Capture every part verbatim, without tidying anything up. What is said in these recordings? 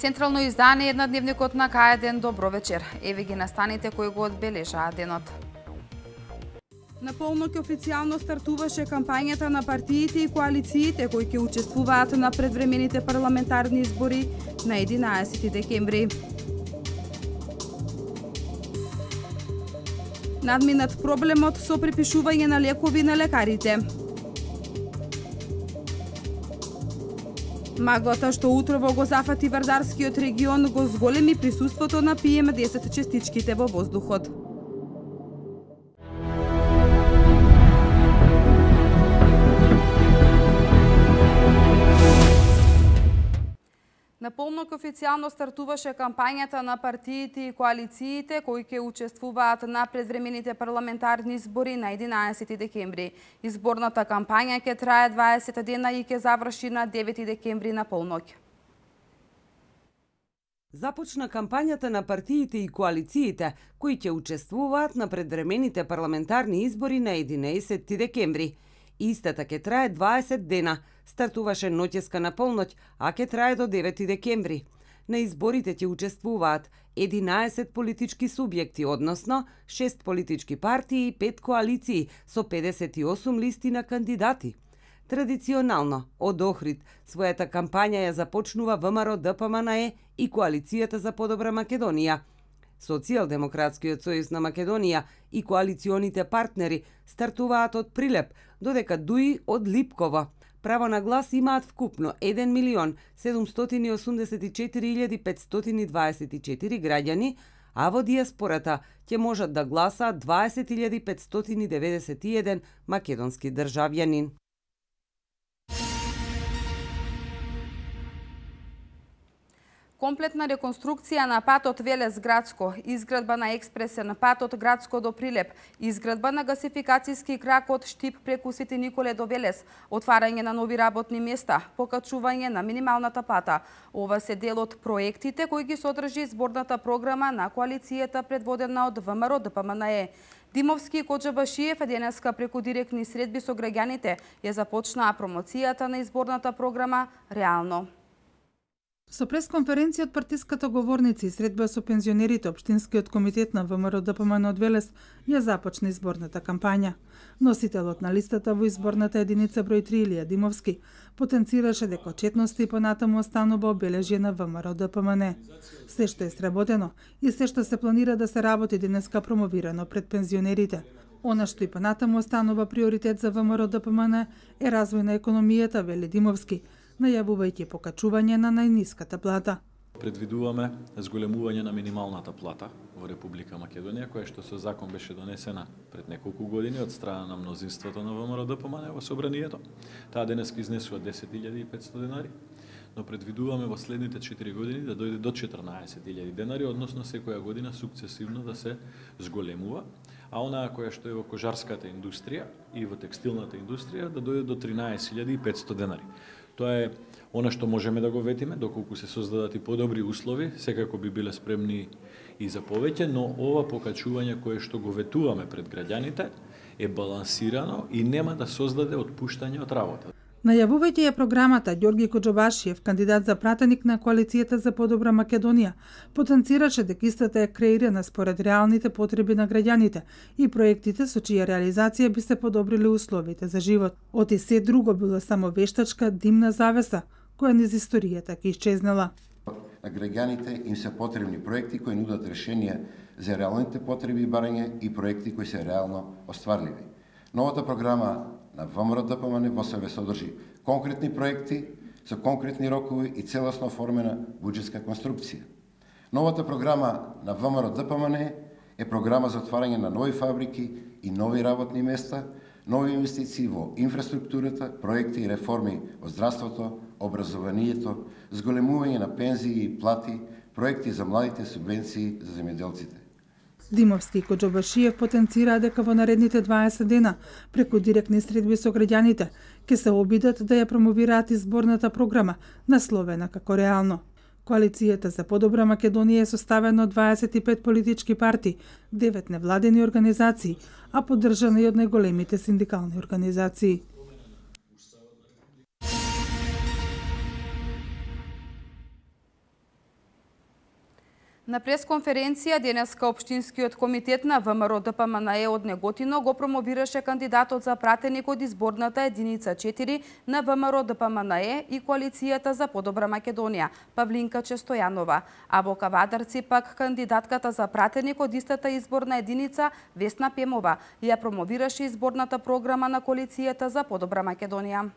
Централно издание еднодневникот на К еден. Добро вечер. Еве ги настаните кои го одбележаа денот. На полноќ официјално стартуваше кампањата на партиите и коалициите кои ќе учествуваат на предвремените парламентарни избори на единаесети декември. Надминат проблемот со припишување на лекови на лекарите. Маглата што утрово го зафати Вардарскиот регион го зголеми присуството на Пи Ем десет честичките во воздухот. На полноќ официјално стартуваше кампањата на партиите и коалициите кои ќе учествуваат на предвремените парламентарни избори на единаесети декември. Изборната кампања ќе трае дваесет дена и ќе заврши на девети декември на полноќ. Започна кампањата на партиите и коалициите кои ќе учествуваат на предвремените парламентарни избори на единаесети декември. Истата ќе трае дваесет дена, стартуваше ноќеска на полноќ, а ќе трае до девети декември. На изборите ќе учествуваат единаесет политички субјекти, односно шест политички партии и пет коалиции со педесет и осум листи на кандидати. Традиционално, од Охрид, својата кампања ја започнува Вэ Ем Ар О Д П М Н Е и Коалицијата за подобра Македонија. Социјалдемократскиот сојуз на Македонија и коалиционите партнери стартуваат од Прилеп, додека Д У И од Липково. Право на глас имаат вкупно еден милион седумстотини и осумдесет и четири илјади петстотини дваесет и четири граѓани, а во дијаспората ќе можат да гласаат дваесет илјади петстотини деветдесет и еден македонски државјанин. Комплетна реконструкција на патот Велес-Градско, изградба на експресен пат од Градско до Прилеп, изградба на гасификацијски крак од Штип преку Свети Николе до Велес, отварање на нови работни места, покачување на минималната плата. Ова се дел од проектите кои ги содржи изборната програма на коалицијата предводена од Вэ Ем Ар О Д П М Н Е. Димовски и Коџабашиев денеска преку директни средби со граѓаните ја започнаа промоцијата на изборната програма реално. Со пресконференција од партиската говорница и средба со пензионерите, Општинскиот комитет на Вэ Ем Ар О Д П М Н од Велес ја започна изборната кампања. Носителот на листата во изборната единица број три Илија Димовски потенцираше дека отчетноста и понатаму останува обележје на Вэ Ем Ар О Д П М Н. Се што е сработено и се што се планира да се работи денеска промовирано пред пензионерите. Она што и понатаму останува приоритет за Вэ Ем Ар О Д П М Н е развој на економијата, вели Димовски, најавувајќи покачување на најниската плата. Предвидуваме зголемување на минималната плата во Република Македонија, која што со закон беше донесена пред неколку години од страна на мнозинството на Вэ Ем Ар О Д П М Н во Собранието. Таа денеска изнесува десет илјади и петстотини денари, но предвидуваме во следните четири години да дојде до четрнаесет илјади денари, односно секоја година сукцесивно да се зголемува, а онаа која што е во кожарската индустрија и во текстилната индустрија да дојде до тринаесет илјади и петстотини денари. Тоа е она што можеме да го ветиме, доколку се создадат и подобри услови, секако би биле спремни и за повеќе, но ова покачување кое што го ветуваме пред граѓаните е балансирано и нема да создаде отпуштање од работа. Најавувајќи ја програмата, Ѓорги Коџабашиев, кандидат за пратеник на Коалицијата за подобра Македонија, потенцираше дека истата е креирана според реалните потреби на граѓаните и проектите со чија реализација би се подобрили условите за живот. Оти се друго било само вештачка димна завеса, која низ историјата ќе исчезнала. На граѓаните им се потребни проекти кои нудат решенија за реалните потреби и барање и проекти кои се реално остварливи. Новата програма на Вэ Ем Ар О Д П М Н во себе содржи конкретни проекти со конкретни рокови и целосно оформена буџетска конструкција. Новата програма на Вэ Ем Ар О Д П М Н е програма за отварање на нови фабрики и нови работни места, нови инвестиции во инфраструктурата, проекти и реформи во здравството, образованието, зголемување на пензии и плати, проекти за младите, субвенции за земјоделците. Димовски и Коџобашиев потенцираа дека во наредните дваесет дена, преку директни средби со граѓаните, ќе се обидат да ја промовираат изборната програма, насловена како реално. Коалицијата за подобра Македонија е составена од дваесет и пет политички партии, девет невладени организации, а поддржана и од најголемите синдикални организации. На пресконференција денеска Општинскиот комитет на ВМРО Д П М Н Е од Неготино го промовираше кандидатот за пратеник од изборната единица четири на ВМРО Д П М Н Е и Коалицијата за подобра Македонија, Павлинка Честојанова, а во Кавадарци пак кандидатката за пратеник од истата изборна единица Весна Пемова ја промовираше изборната програма на Коалицијата за подобра Македонија.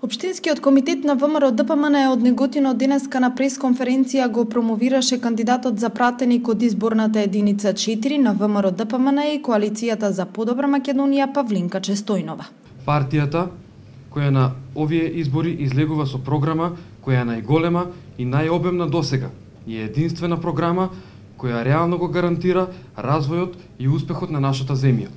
Општинскиот комитет на ВМРО Д П М Н Е од Неготино денеска на пресконференција го промовираше кандидатот за пратеник од изборната единица четири на ВМРО Д П М Н Е и Коалицијата за подобра Македонија, Павлинка Честојнова. Партијата која на овие избори излегува со програма која е најголема и најобемна досега и е единствена програма која реално го гарантира развојот и успехот на нашата земја.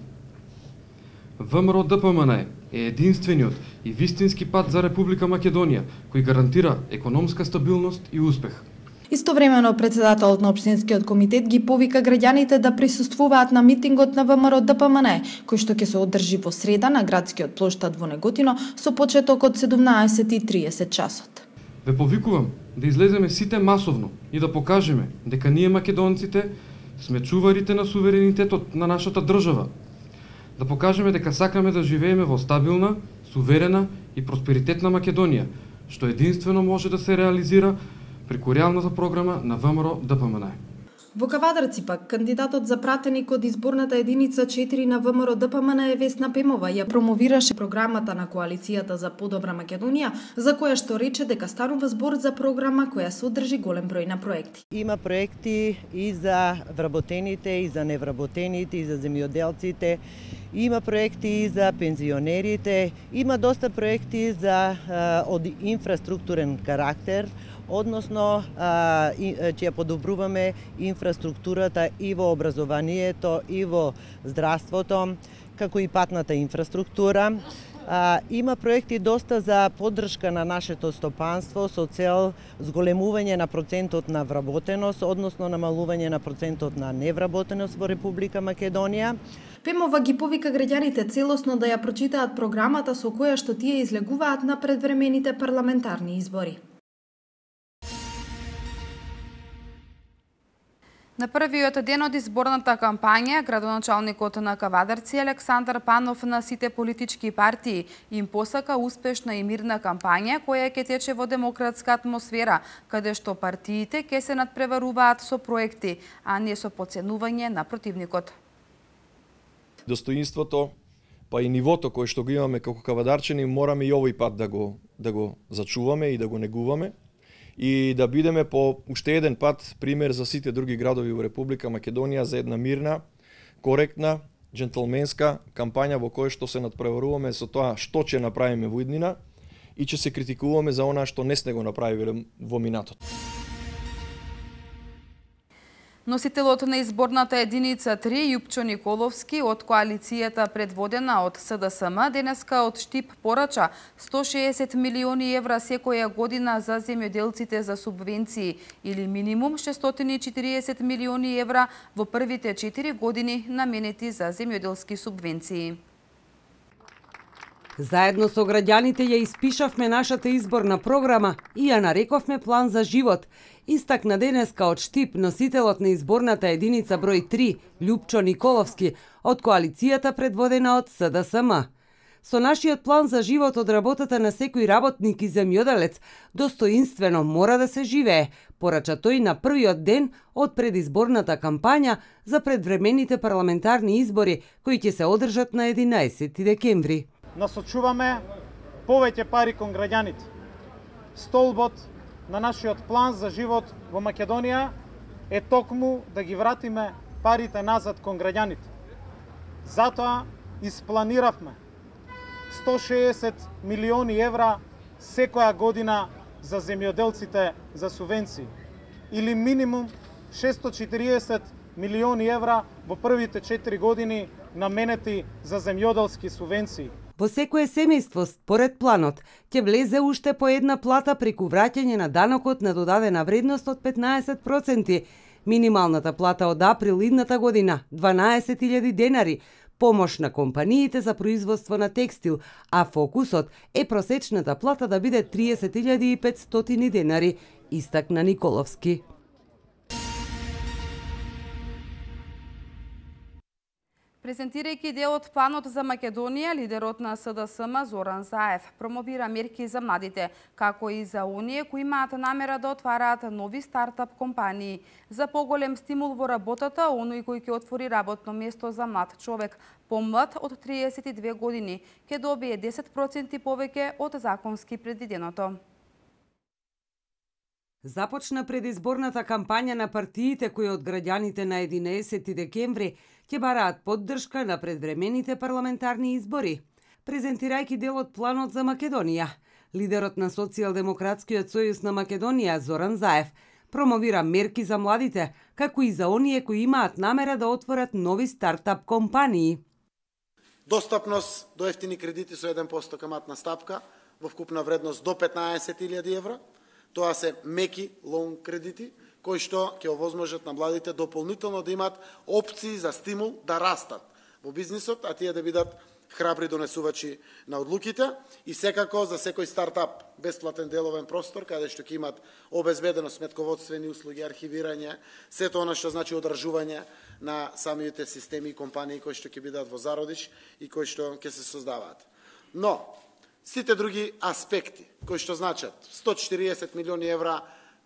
ВМРО Д П М Н Е е единствениот и вистински пат за Република Македонија, кој гарантира економска стабилност и успех. Истовремено председателот на Општинскиот комитет ги повика граѓаните да присуствуваат на митингот на ВМРО Д П М Н Е, кој што ќе се одржи во среда на градскиот плоштад во Неготино со почеток од седумнаесет и триесет часот. Ве повикувам да излеземе сите масовно и да покажеме дека ние македонците сме чуварите на суверенитетот на нашата држава. Да покажеме дека сакаме да живееме во стабилна, суверена и просперитетна Македонија, што единствено може да се реализира преку реалната програма на ВМРО Д П М Н Е. Во Кавадарци пак кандидатот за пратеник од изборната единица четири на ВМРО Д П М Н Е Весна Пемова ја промовираше програмата на Коалицијата за подобра Македонија, за која што рече дека станува збор за програма која содржи голем број на проекти. Има проекти и за вработените, и за невработените, и за земјоделците. Има проекти и за пензионерите, има доста проекти за од инфраструктурен карактер, односно ќе подобруваме инфраструктурата и во образованието, и во здравството, како и патната инфраструктура. Има проекти доста за поддршка на нашето стопанство со цел зголемување на процентот на вработеност, односно намалување на процентот на невработеност во Република Македонија. Пемова ги повика граѓаните целосно да ја прочитаат програмата со која што тие излегуваат на предвремените парламентарни избори. На првиот ден од изборната кампања, градоначалникот на Кавадарци Александар Панов на сите политички партии им посака успешна и мирна кампања која ќе тече во демократска атмосфера, каде што партиите ќе се надпреваруваат со проекти, а не со поценување на противникот. Достоинството, па и нивото кое што го имаме како кавадарчани, мораме и овој пат да го да го зачуваме и да го негуваме и да бидеме по уште еден пат пример за сите други градови во Република Македонија за една мирна, коректна, джентлменска кампања во која што се надпреваруваме со тоа што ќе направиме во иднина и ќе се критикуваме за она што не сме го направиле во минатот. Носителот на изборната единица три, Јупчо Николовски, од коалицијата предводена од С Д С М, денеска од Штип порача сто шеесет милиони евра секоја година за земјоделците за субвенции или минимум шестстотини и четириесет милиони евра во првите четири години наменети за земјоделски субвенции. Заедно со граѓаните ја испишавме нашата изборна програма и ја нарековме план за живот. Истакна денеска од Штип носителот на изборната единица број три, Јупчо Николовски, од коалицијата предводена од С Д С М. Со нашиот план за живот од работата на секој работник и земјоделец достоинствено мора да се живее, порача тој на првиот ден од предизборната кампања за предвремените парламентарни избори кои ќе се одржат на единаесети декември. Насочуваме повеќе пари кон граѓаните. Столбот на нашиот план за живот во Македонија е токму да ги вратиме парите назад кон граѓаните. Затоа испланиравме сто шеесет милиони евра секоја година за земјоделците за субвенции или минимум шесто четириесет милиони евра во првите четири години наменети за земјоделски субвенции. Во секое семејство, според планот, ќе влезе уште по една плата преку враќање на данокот на додадена вредност од петнаесет проценти. Минималната плата од април идната година дванаесет илјади денари, помош на компаниите за производство на текстил, а фокусот е просечната плата да биде триесет илјади и петстотини денари, истакна Николовски. Презентирајќи дел од планот за Македонија, лидерот на С Д С М Зоран Заев промовира мерки за младите, како и за оние кои имаат намера да отвараат нови стартап компании. За поголем стимул во работата, оној кој ќе отвори работно место за млад човек, помлад од триесет и две години, ќе добие десет проценти повеќе од законски предвиденото. Започна предизборната кампања на партиите кои од граѓаните на единаесети декември ќе бараат поддршка на предвремените парламентарни избори. Презентирајќи дел од планот за Македонија, лидерот на Социјалдемократскиот сојуз на Македонија Зоран Заев промовира мерки за младите, како и за оние кои имаат намера да отворат нови стартап компании. Достапност до ефтини кредити со еден процент каматна стапка во вкупна вредност до петнаесет илјади евра. Тоа се меки лоун кредити, кои што ќе овозможат на младите дополнително да имаат опции за стимул да растат во бизнисот, а тие да бидат храбри донесувачи на одлуките и секако за секој стартап бесплатен деловен простор, каде што ќе имат обезбедено сметководствени услуги, архивирање, сето она што значи одржување на самите системи и компании кои што ќе бидат во зародиш и кои што ќе се создаваат. Но, сите други аспекти, кои што значат сто четириесет милиони евра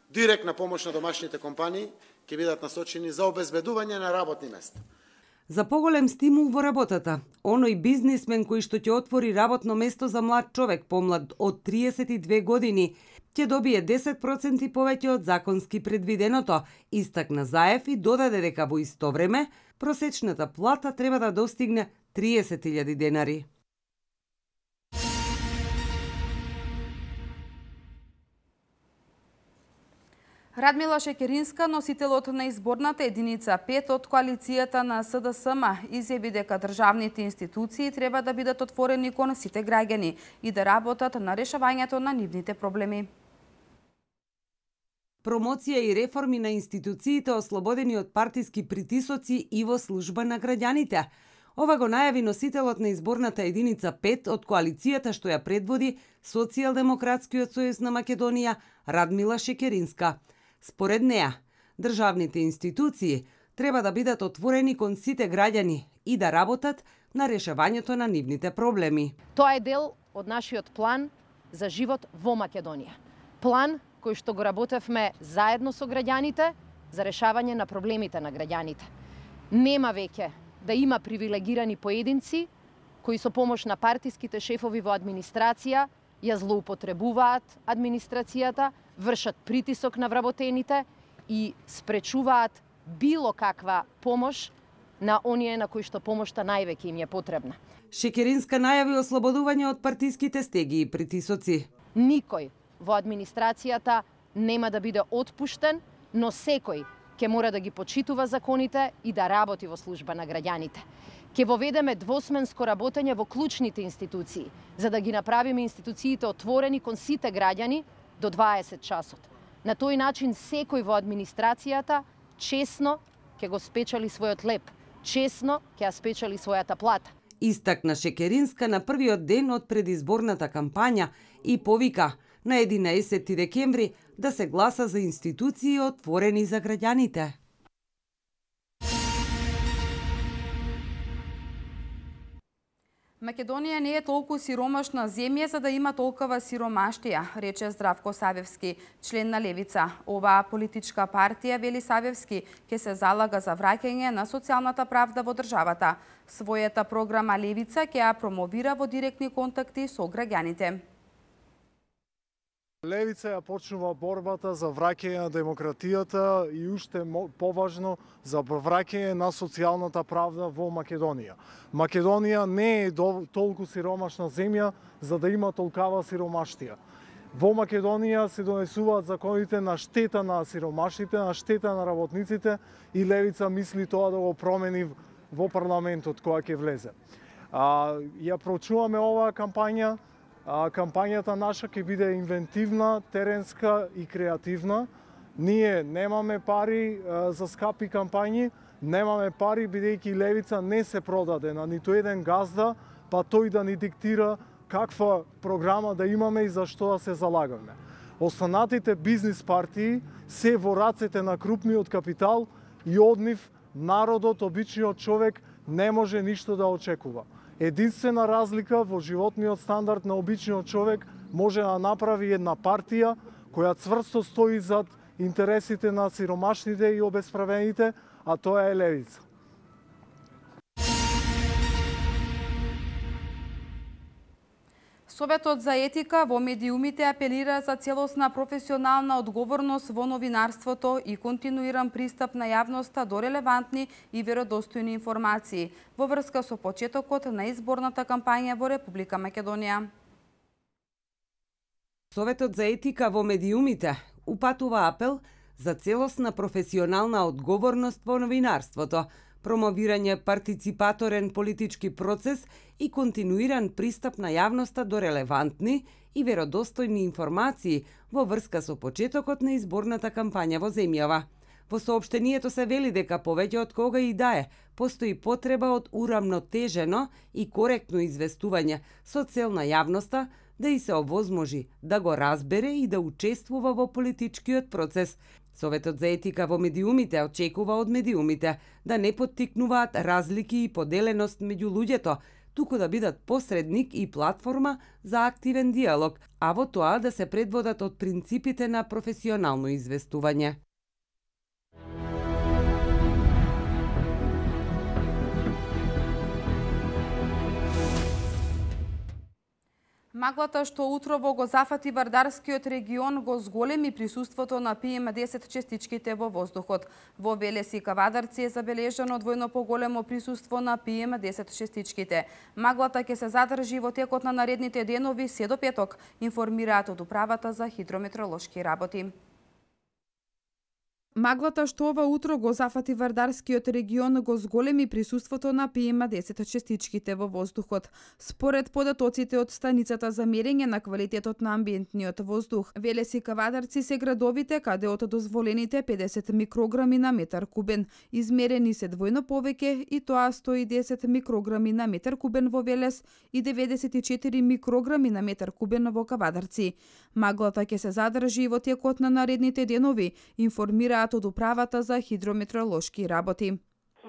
директна помош на домашните компании, ќе бидат насочени за обезбедување на работни места. За поголем стимул во работата, оној бизнисмен кој што ќе отвори работно место за млад човек помлад од триесет и две години, ќе добие десет проценти повеќе од законски предвиденото, истакна Заев и додаде дека во исто време просечната плата треба да достигне триесет илјади денари. Радмила Шекеринска, носителот на изборната единица пет од коалицијата на С Д С М, изјави дека државните институции треба да бидат отворени кон сите граѓани и да работат на решавањето на нивните проблеми. Промоција и реформи на институциите ослободени од партиски притисоци и во служба на граѓаните. Ова го најави носителот на изборната единица пет од коалицијата што ја предводи Социјалдемократскиот сојуз на Македонија Радмила Шекеринска. Според неа, државните институции треба да бидат отворени кон сите граѓани и да работат на решавањето на нивните проблеми. Тоа е дел од нашиот план за живот во Македонија. План кој што го работевме заедно со граѓаните за решавање на проблемите на граѓаните. Нема веќе да има привилегирани поединци кои со помош на партиските шефови во администрација ја злоупотребуваат администрацијата, вршат притисок на вработените и спречуваат било каква помош на оние на кои што помошта највеќе им е потребна. Шекеринска најави ослободување од партиските стеги и притисоци. Никој во администрацијата нема да биде отпуштен, но секој ќе мора да ги почитува законите и да работи во служба на граѓаните. Ќе воведеме двосменско работење во клучните институции, за да ги направиме институциите отворени кон сите граѓани до дваесет часот. На тој начин секој во администрацијата честно ќе го спечали својот леп, честно ќе ја спечали својата плата. Истакна Шекеринска на првиот ден од предизборната кампања и повика на единаесети декември да се гласа за институции отворени за граѓаните. Македонија не е толку сиромашна земја за да има толкова сиромаштија, рече Здравко Савевски, член на Левица. Оваа политичка партија, вели Савевски, ќе се залага за враќање на социјалната правда во државата. Својата програма Левица ќе ја промовира во директни контакти со граѓаните. Левица ја почнува борбата за враќање на демократијата и уште поважно за враќање на социјалната правда во Македонија. Македонија не е толку сиромашна земја за да има толкава сиромаштија. Во Македонија се донесуваат законите на штета на сиромашните, на штета на работниците и левица мисли тоа да го промени во парламентот која ќе влезе. А, ја проучуваме оваа кампања. А, кампањата наша ќе биде инвентивна, теренска и креативна. Ние немаме пари а, за скапи кампањи, немаме пари бидејќи левица не се продаде на ниту еден газда, па тој да ни диктира каква програма да имаме и за што да се залагаме. Останатите бизнис партии се во рацете на крупниот капитал и од нив народот, обичниот човек, не може ништо да очекува. Единствена разлика во животниот стандард на обичниот човек може да направи една партија која цврсто стои зад интересите на сиромашните и обесправените, а тоа е левица. Советот за етика во медиумите апелира за целосна професионална одговорност во новинарството и континуиран пристап на јавноста до релевантни и веродостојни информации во врска со почетокот на изборната кампања во Република Македонија. Советот за етика во медиумите упатува апел за целосна професионална одговорност во новинарството, промовирање партиципаторен политички процес и континуиран пристап на јавноста до релевантни и веродостојни информации во врска со почетокот на изборната кампања во земјава. Во соопштението се вели дека повеќе од кога и да е, постои потреба од урамнотежено и коректно известување со цел на јавноста да и се овозможи да го разбере и да учествува во политичкиот процес. Советот за етика во медиумите очекува од медиумите да не поттикнуваат разлики и поделеност меѓу луѓето, туку да бидат посредник и платформа за активен диалог, а во тоа да се предводат од принципите на професионално известување. Маглата што утрово го зафати Вардарскиот регион го зголеми присуството на пи ем десет честичките во воздухот. Во Велес и Кавадарци е забележано двојно поголемо присуство на пи ем десет честичките. Маглата ќе се задржи во текот на наредните денови се до петок, информираат од Управата за хидрометеоролошки работи. Маглата што ова утро го зафати Вардарскиот регион го зголеми присуството на пи ем десет честичките во воздухот. Според податоците од станицата за мерење на квалитетот на амбиентниот воздух, Велес и Кавадарци се градовите каде од дозволените педесет микрограми на метар кубен, измерени се двојно повеќе и тоа сто и десет микрограми на метар кубен во Велес и деветдесет и четири микрограми на метар кубен во Кавадарци. Маглата ќе се задржи во текот на наредните денови, информираат од Управата за хидрометеоролошки работи.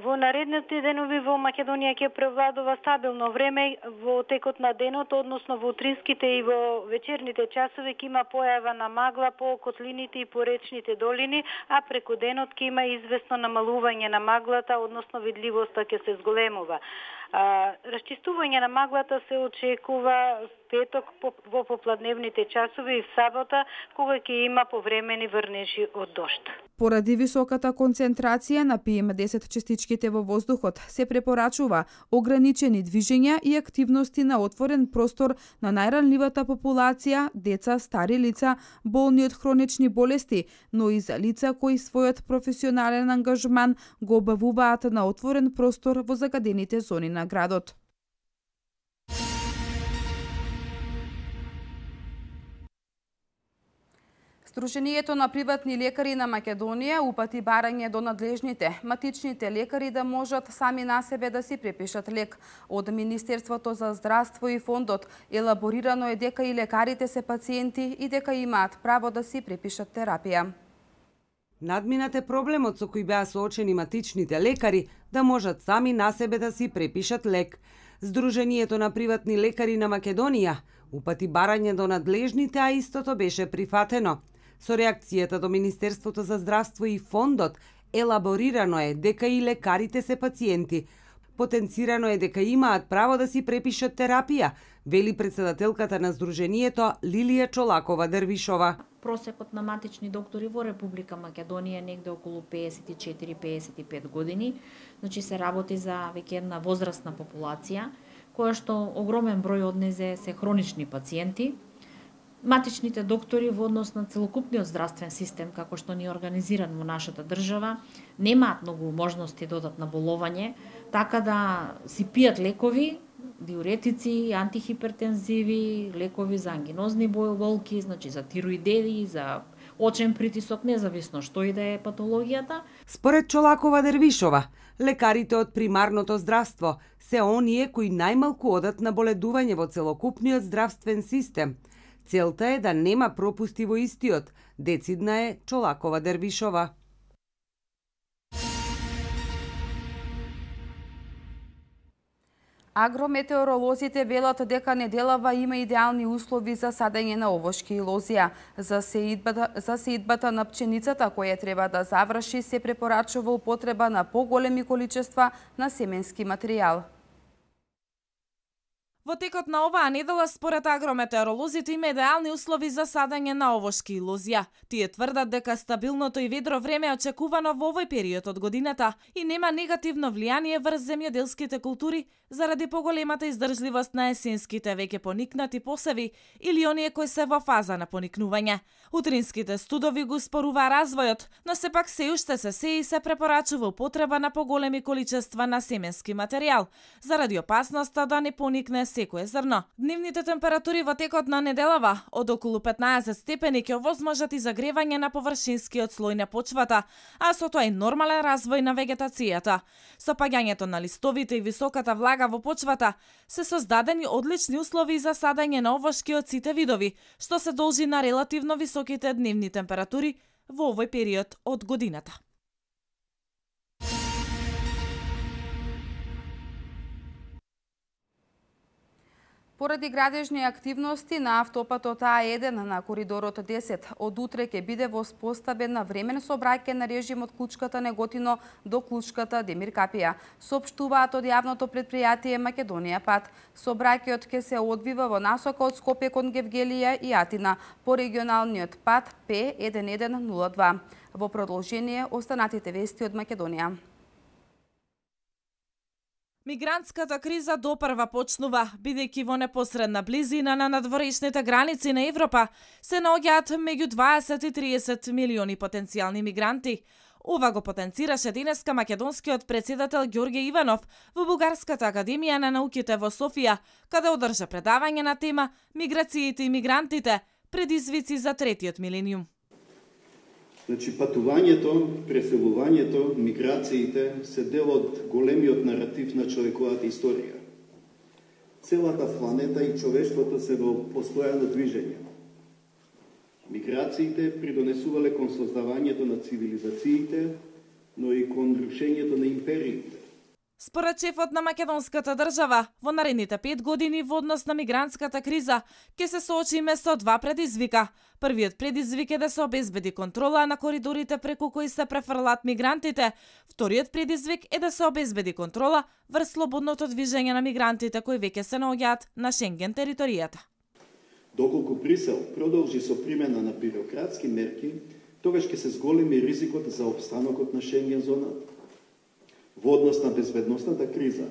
Во наредните денови во Македонија ќе превладува стабилно време во текот на денот, односно во утринските и во вечерните часови ќе има појава на магла по котлините и по речните долини, а преку денот ќе има известно намалување на маглата, односно видливоста ќе се зголемува. А, расчистување на маглата се очекува петок во попладневните часови и в сабота, кога ќе има повремени врнежи од дожд. Поради високата концентрација на пи ем десет честичките во воздухот, се препорачува ограничени движења и активности на отворен простор на најранливата популација, деца, стари лица, болни од хронични болести, но и за лица кои својот професионален ангажман го обавуваат на отворен простор во загадените зони на градот. Сдруженијето на приватни лекари на Македонија упати барање до надлежните, матичните лекари да можат сами на себе да си препишат лек. Од Министерството за здравство и фондот елаборирано е дека и лекарите се пациенти и дека имаат право да си препишат терапија. Надминат е проблемот со кој беа соочени матичните лекари да можат сами на себе да си препишат лек. Сдруженијето на приватни лекари на Македонија упати барање до надлежните, а истото беше прифатено. Со реакцијата до Министерството за здравство и фондот елаборирано е дека и лекарите се пациенти. Потенцирано е дека имаат право да си препишат терапија, вели председателката на Сдруженијето Лилија Чолакова-Дервишова. Просекот на матични доктори во Република Македонија е негде околу пеесет и четири до пеесет и пет години. Значи се работи за веќе една возрастна популација, која што огромен број од незе се хронични пациенти. матичните доктори во однос на целокупниот здравствен систем, како што ни е организиран во нашата држава, немаат многу можности да одат на боловање, така да си пијат лекови, диуретици, антихипертензиви, лекови за ангинозни болки, значи за тироидеи, за очен притисок, независно што и да е патологијата. Според Чолакова Дервишова, лекарите од примарното здравство се оние кои најмалку одат на боледување во целокупниот здравствен систем. Целта е да нема пропусти во истиот, децидна е Чолакова Дервишова. Агрометеоролозите велат дека неделава има идеални услови за садење на овошки и лозија. За сеидбата, за сеидбата на пченицата, која треба да заврши, се препорачува употреба на поголеми количества на семенски материјал. Во текот на оваа недела, според агрометеоролозите, има идеални услови за садење на овошки и лозја. Тие тврдат дека стабилното и ведро време е очекувано во овој период од годината и нема негативно влијание врз земјоделските култури заради поголемата издржливост на есенските веќе поникнати посеви или оние кои се во фаза на поникнување. Утринските студови го спорува развојот, но сепак се уште се се и се препорачува употреба на поголеми количества на семенски материјал, заради опасноста да не поникне секое зрно. Дневните температури во текот на неделава од околу петнаесет степени ќе овозможат и загревање на површинскиот слој на почвата, а со тоа и нормален развој на вегетацијата. Со паѓањето на листовите и високата влага во почвата се создадени одлични услови за садење на овошки од сите видови, што се должи на релативно високите дневни температури во овој период од годината. Поради градежни активности на автопатот А еден на коридорот десет, од утре ќе биде воспоставен на времен сообраќај на режим од Клучката Неготино до Клучката Демир Капија, соопштуваат од јавното предпријатие Македонија Пат. Сообраќајот ќе се одвива во насока од Скопје кон Гевгелија и Атина по регионалниот пат П еден еден нула два. Во продолжение останатите вести од Македонија. Мигрантската криза допрва почнува, бидејќи во непосредна близина на надворешните граници на Европа се наоѓаат меѓу дваесет и триесет милиони потенцијални мигранти. Ова го потенцираше денеска македонскиот претседател Ѓорѓе Иванов во Бугарската академија на науките во Софија, каде одржа предавање на тема Миграциите и мигрантите, предизвици за третиот милениум. Значи, патувањето, преселувањето, миграциите се дел од големиот наратив на човековата историја. Целата планета и човештвото се во постојано движење. Миграциите придонесувале кон создавањето на цивилизациите, но и кон рушењето на империите. Според шефот на македонската држава, во наредните пет години во однос на мигрантската криза ќе се соочиме со два предизвика. Првиот предизвик е да се обезбеди контрола на коридорите преку кои се префрлаат мигрантите. Вториот предизвик е да се обезбеди контрола врз слободното движење на мигрантите кои веќе се наоѓаат на Шенген територијата. Доколку Брисел продолжи со примена на бирократски мерки, тогаш ќе се зголеми ризикот за опстанокот на Шенген зоната. Во однос на безбедносната криза,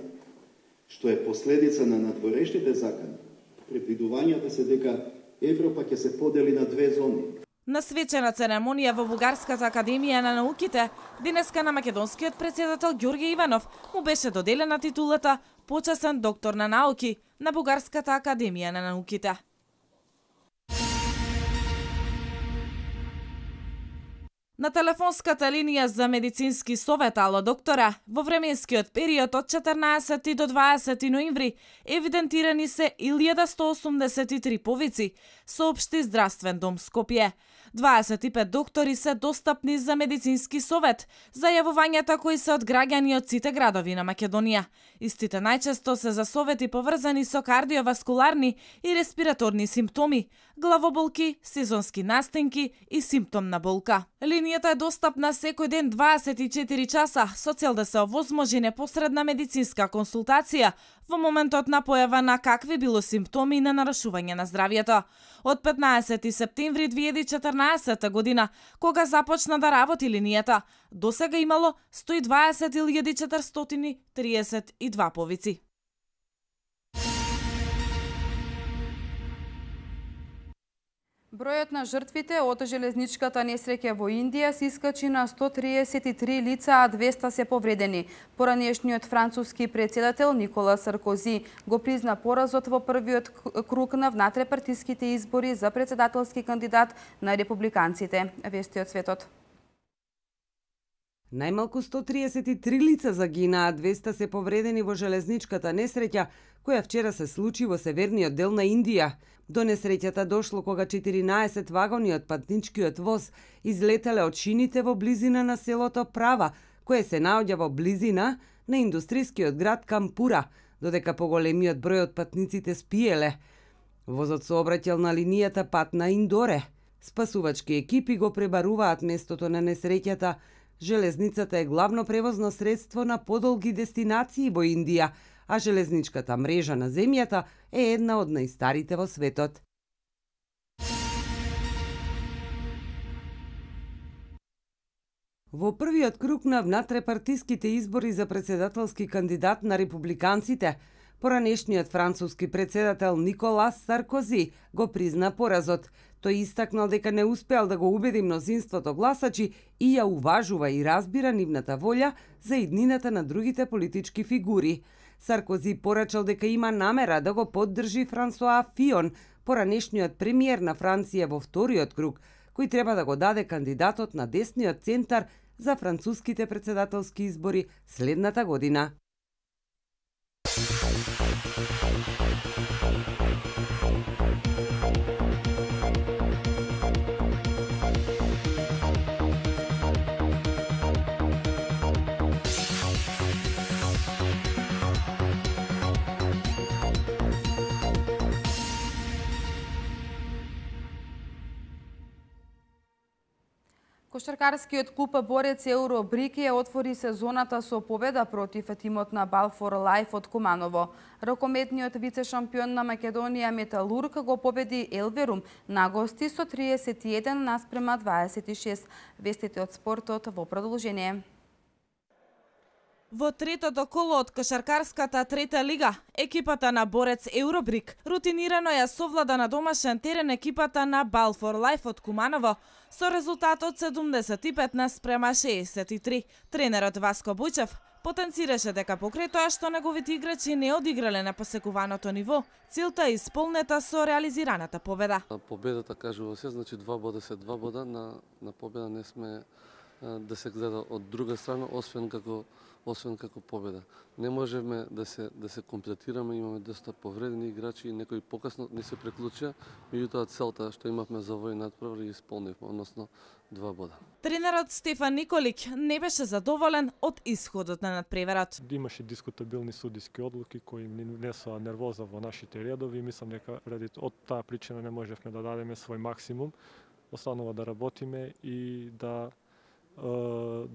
што е последица на надворешните закани, предвидувањата се дека Европа ќе се подели на две зони. На свечена церемонија во Бугарската академија на науките, денеска на македонскиот претседател Ѓорѓе Иванов му беше доделена титулата почесен доктор на науки на Бугарската академија на науките. На телефонската линија за медицински совет Ало доктора, во временскиот период од четрнаесети до дваесети ноември евидентирани се илјада сто осумдесет и три повици, соопшти Здравствен дом Скопје. дваесет и пет доктори се достапни за медицински совет за јавувањата кои се од граѓани од сите градови на Македонија. Истите најчесто се за совети поврзани со кардиоваскуларни и респираторни симптоми, главоболки, сезонски настинки и симптомна болка. Линијата е достапна секој ден дваесет и четири часа со цел да се овозможи непосредна медицинска консултација во моментот на појава на какви било симптоми на нарушување на здравјето. Од петнаесети септември две илјади и четрнаесета година, кога започна да работи линијата, досега имало сто и дваесет илјади четиристотини триесет и два повици. Бројот на жртвите од железничката несреќа во Индија се искачи на сто триесет и три лица, а двеста се повредени. Поранешниот француски председател Никола Саркози го призна поразот во првиот круг на внатрепартиските избори за председателски кандидат на републиканците. Вести од светот. Најмалку сто триесет и три лица загинаа, двеста се повредени во железничката несреќа, која вчера се случи во северниот дел на Индија. До несреќата дошло кога четиринаесет вагони од патничкиот воз излетеле од шините во близина на селото Права, кое се наоѓа во близина на индустрискиот град Кампура, додека поголемиот број од патниците спиеле. Возот се обраќал на линијата Патна Индоре. Спасувачки екипи го пребаруваат местото на несреќата. Железницата е главно превозно средство на подолги дестинации во Индија, а железничката мрежа на земјата е една од најстарите во светот. Во првиот круг на внатрепартиските избори за председателски кандидат на републиканците, поранешниот француски председател Николас Саркози го призна поразот. Тој истакнал дека не успеал да го убеди мнозинството гласачи и ја уважува и разбира нивната волја за иднината на другите политички фигури. Саркози порачал дека има намера да го поддржи Франсоа Фион, поранешниот премиер на Франција во вториот круг, кој треба да го даде кандидатот на десниот центар за француските председателски избори следната година. Кошаркарскиот клуб борец Еуробрик ја отвори сезоната со победа против тимот на Балфор Лайф од Куманово. Рокометниот вице-шампион на Македонија Металург го победи Елверум на гости со триесет и еден наспрема дваесет и шест. Вестите од спортот во продолжение. Во третото коло од кошаркарската трета лига, екипата на борец Еуробрик рутинирано ја совлада на домашен терен екипата на Балфор Лайф од Куманово со резултатот седумдесет и пет наспрема шеесет и три. Тренерот Васко Бујчев потенцираше дека покрај тоа што неговите играчи не одиграле на посекуваното ниво, целта е исполнета со реализираната победа. Победата кажува се, значи два бода се два бода, на, на победа не сме да се гледа од друга страна, освен како освен како победа. Не можеме да се да се комплетираме, имаме доста повредени играчи и некои покасно не се приклучија, меѓутоа целта што имавме за овој надпревар ја исполнивме, односно два бода. Тренерот Стефан Николик не беше задоволен од исходот на надпреварот. Имаше дискутабилни судиски одлуки кои несоа нервоза во нашите редови. Мислам дека ради од таа причина не можевме да дадеме свој максимум. Останува да работиме и да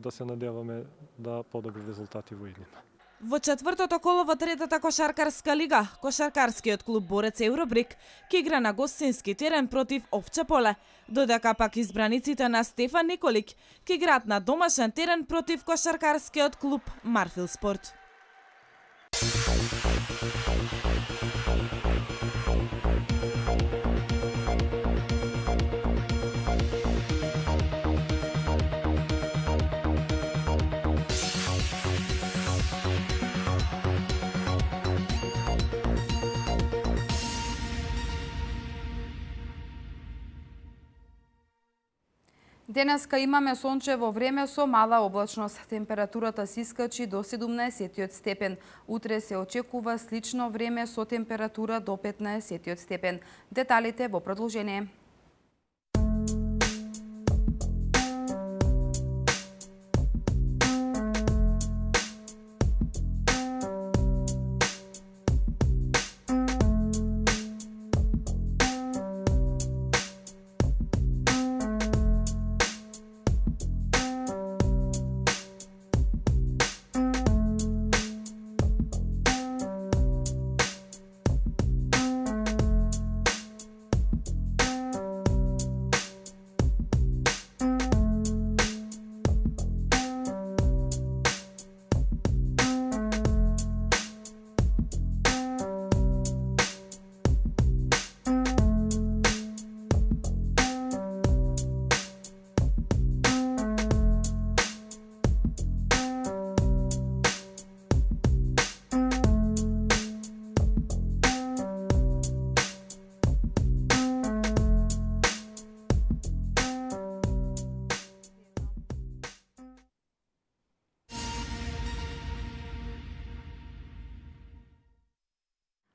да се надеваме да подобри резултати во иднина. Во четвртото коло во третата кошаркарска лига, кошаркарскиот клуб борец Еуробрик ќе игра на гостински терен против Овче поле, додека пак избраниците на Стефан Николик ќе играат на домашен терен против кошаркарскиот клуб Марфил Спорт. Денеска имаме сончево време со мала облачност. Температурата се искачи до седумнаесет степен. Утре се очекува слично време со температура до петнаесет степен. Деталите во продолжение.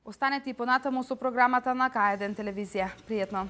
Останете и понатаму со програмата на К еден телевизија. Пријатно!